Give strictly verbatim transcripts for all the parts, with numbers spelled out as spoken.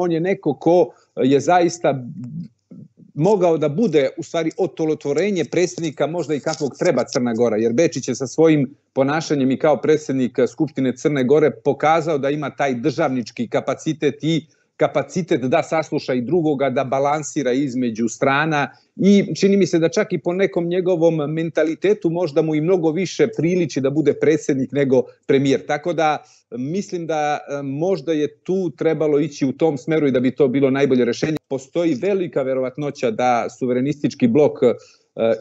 on je neko ko je zaista mogao da bude u stvari otolotvorenje predsjednika možda i kakvog treba Crna Gora, jer Bečić je sa svojim ponašanjem i kao predsjednik Skupštine Crne Gore pokazao da ima taj državnički kapacitet i kapacitet da sasluša i drugoga, da balansira između strana i čini mi se da čak i po nekom njegovom mentalitetu možda mu i mnogo više priliči da bude predsjednik nego premijer. Tako da mislim da možda je tu trebalo ići u tom smeru i da bi to bilo najbolje rešenje. Postoji velika verovatnoća da suverenistički blok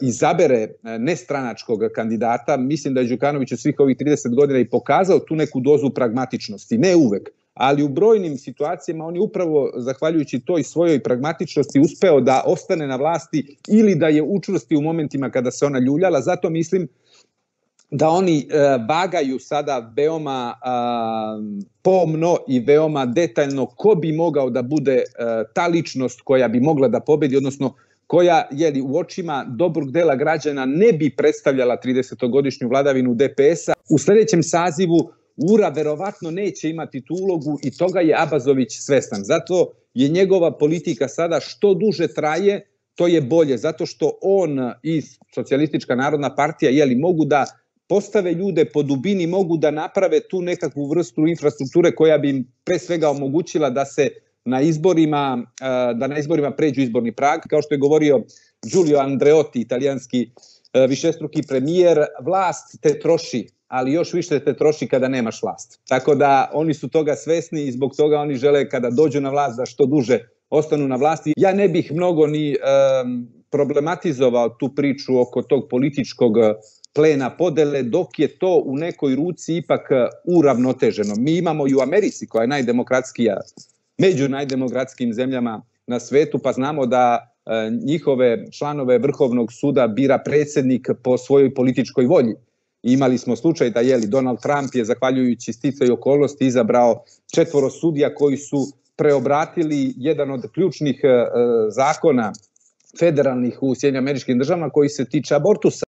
izabere nestranačkog kandidata. Mislim da je Đukanović u svih ovih trideset godina i pokazao tu neku dozu pragmatičnosti, ne uvek, ali u brojnim situacijama on je upravo zahvaljujući toj svojoj pragmatičnosti uspeo da ostane na vlasti ili da je učvrsti u momentima kada se ona ljuljala. Zato mislim da oni vagaju sada veoma pomno i veoma detaljno ko bi mogao da bude ta ličnost koja bi mogla da pobedi, odnosno koja je u očima dobrog dela građana ne bi predstavljala tridesetogodišnju vladavinu D P S-a. U sljedećem sazivu Ura verovatno neće imati tu ulogu i toga je Abazović svestan. Zato je njegova politika sada što duže traje, to je bolje. Zato što on i Socijalistička narodna partija jeli, mogu da postave ljude po dubini, mogu da naprave tu nekakvu vrstu infrastrukture koja bi im pre svega omogućila da se na izborima, da na izborima pređu izborni prag. Kao što je govorio Giulio Andreotti, italijanski višestruki premijer, vlast te troši, ali još više te troši kada nemaš vlast. Tako da oni su toga svesni i zbog toga oni žele kada dođu na vlast da što duže ostanu na vlasti. Ja ne bih mnogo ni um, problematizovao tu priču oko tog političkog plena podele, dok je to u nekoj ruci ipak uravnoteženo. Mi imamo i u Americi, koja je najdemokratskija, među najdemokratskim zemljama na svetu, pa znamo da e, njihove članove Vrhovnog suda bira predsjednik po svojoj političkoj volji. Imali smo slučaj da je Donald Trump je, zahvaljujući sticaju okolnosti, izabrao četvoro sudija koji su preobratili jedan od ključnih e, zakona federalnih u Sjedinjenim Američkim Državama koji se tiče abortusa.